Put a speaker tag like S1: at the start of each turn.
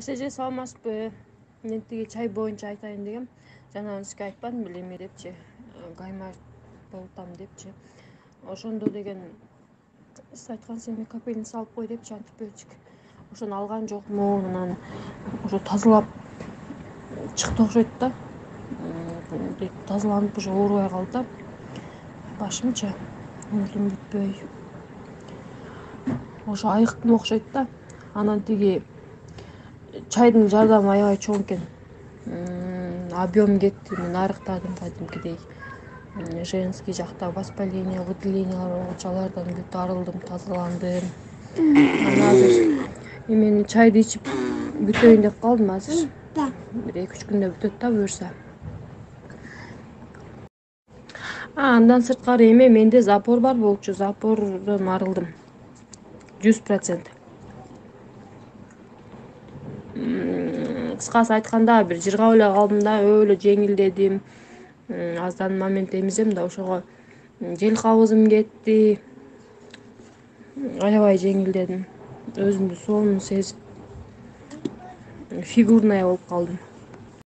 S1: Эже саламатсызбы? Мен тиги чай боюнча айтайын дегем. Жана сизге айтпадым беле эме депчи, гаймаш болуп атам депчи. Ошондо деген сиз айткансыз эми капельница салып кой депчи, антибиотик. Ошону алган жокмун, анан ошо тазалап чыкты окшойт да. Тазаланып уже оорубай калды да. Башымчы мүлдүм бүтпөй. Ошо айыктым окшойт да. Анан тиги чайдын жардамы аябай чоң экен. Объем кетти, мен арыктадым кадимкидей. Женский жакта воспаление, выделениялар болгочу алардан бүт арылдым, тазаландым. Анан азыр эмени чайды ичип бүтөйүн деп калдым азыр. Бир 2-3 күндө бүтөт да буюрса. Андан сырткары эме менде запор бар болчу, запордон арылдым. 100%. Кыскасы айтканда бир жыргап эле калдым да, өлө жеңилдедим. Аздан момент эмизем да, ошого жел кабызым кетти. Аябай жеңилдедим. Өзүмдү сонун сезип, фигурная болуп калдым.